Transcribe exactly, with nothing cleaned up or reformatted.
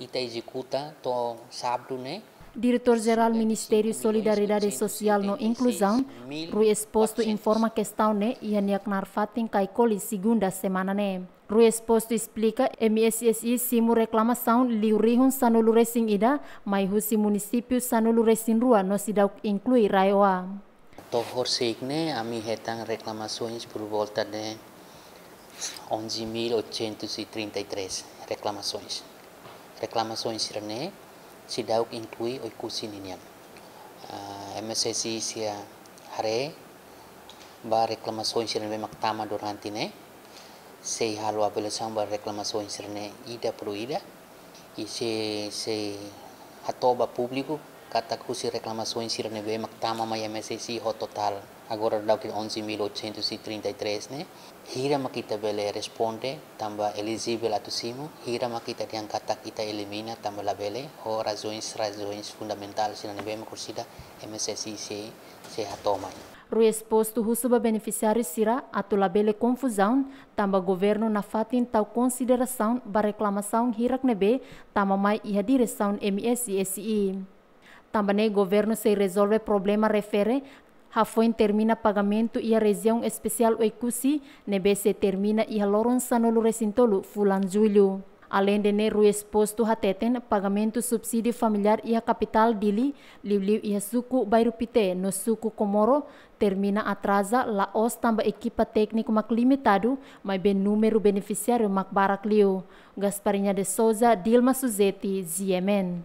Ita ezekuta to'o sábadu ne'e. Diretór Jerál Ministériu Solidariedade Sosiál no Inkluzaun, Rui Exposto, informa kestaun ne'e iha nia knaar fatin Kaikoli, segunda semana ne'e. Rui Exposto esplika, M S S I simu reklamasaun liu rihun sanulu resin ida, mai husi munisípiu sanulu resin rua no seidauk inklui RAEOA. To'o horisehik ne'e, ami hetan reklamasoens por volta de onze mil oitocentos e trinta e três reklamasoens. Reklamasoens sira-ne'e seidauk inklui Oekusi ninian. Ah, M S S I sei haree ba reklamasoens sira ne'ebé mak tama durante ne'e, sei halo avaliasaun ba reklamasoens sira-ne'e ida por ida, i sei, sei hato'o ba públiku katak husi reklamasoens sira ne'ebé mak tama mai M S S I ho totál agora daudaun onze mil oitocentos e trinta e três ne'e, hira mak ita bele responde tanba elijivel atu simu, hira mak ita dehan katak ita elimina tanba labele, ho razoens, razoens fundamentál sira ne'ebé mak orsida M S S I sei, sei hato'o mai. Rui Exposto husu ba benefisiáriu sira atu labele konfuzaun, tanba governu nafatin tau konsiderasaun ba reklamasaun hirak ne'ebé tama mai iha diresaun M S S I. Tanba ne'e governu sei rezolve problema refere hafoin termina pagamentu iha Rejiaun Espesiál Oekusi, ne'ebé sei termina iha loron sanulu resin tolu fulan Jullu. Aleinde ne'e, Rui Exposto hateten, pagamentu subsídiu familiár iha kapitál Dili, liuliu iha suku Bairru Pité no suku Comoro, termina atraza, la'ós tanba ekipa tékniku mak limitadu, maibé númeru benefisiáriu mak barak liu. Gasparinha de Souza, Dilma Suzeti, G M N.